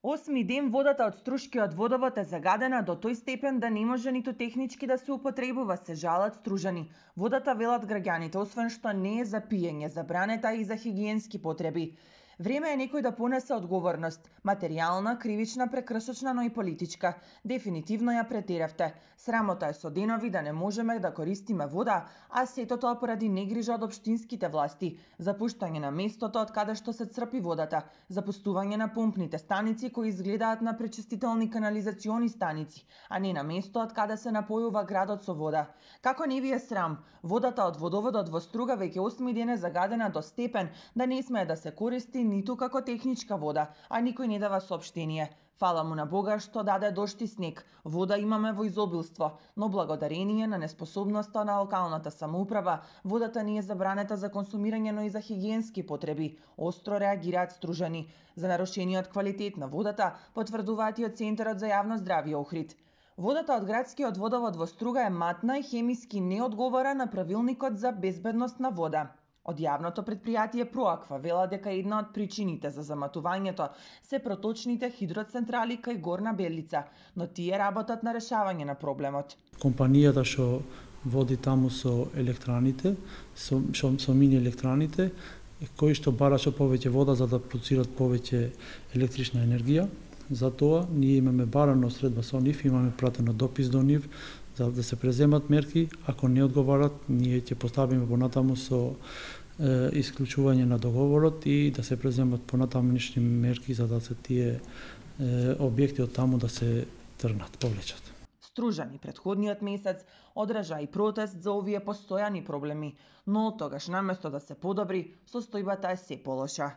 8 ден водата од Струшкиот водовод е загадена до тој степен да не може ниту технички да се употребува, се жалат стружани. Водата, велат граѓаните, освен што не е за пиење, забранета и за хигиенски потреби. Време е некој да понесе одговорност, материјална, кривична, прекршочна, но и политичка. Дефинитивно ја претеравте. Срамота е со денови да не можеме да користиме вода, а сето тоа поради негрижа од општинските власти, запуштање на местото од каде што се црпи водата, запустување на помпните станици кои изгледаат на пречистителни канализациони станици, а не на место од каде се напојува градот со вода. Како не ви е срам? Водата од водоводот во Струга веќе 8 ден е загадена до степен да не смее да се користи ниту како техничка вода, а никој не дава соопштение. Фала му на Бога што даде дожд и снег. Вода имаме во изобилство, но благодарение на неспособноста на локалната самоуправа, водата не е забранета за консумирање, но и за хигиенски потреби. Остро реагираат стружани. За нарушениот квалитет на водата потврдуваат и од Центарот за јавно здравје Охрид. Водата од градскиот водовод во Струга е матна и хемиски не одговара на правилникот за безбедност на вода. Од јавното претпријатие Проаква вела дека една од причините за заматувањето се проточните хидроцентрали кај Горна Белица, но тие работат на решавање на проблемот. Компанијата што води таму со електраните, со мини електраните, кои што бараше повеќе вода за да продуцират повеќе електрична енергија. Затоа ние имаме барано средба со нив, имаме пратено допис до нив за да се преземат мерки. Ако не одговарат, ние ќе поставиме понатаму со исклучување на договорот и да се преземат понатамнишни мерки за да се тие објекти од таму да се тргнат, повлечат. Стружани претходниот месец одржа и протест за овие постојани проблеми, но тогаш наместо да се подобри, состојбата е се полоша.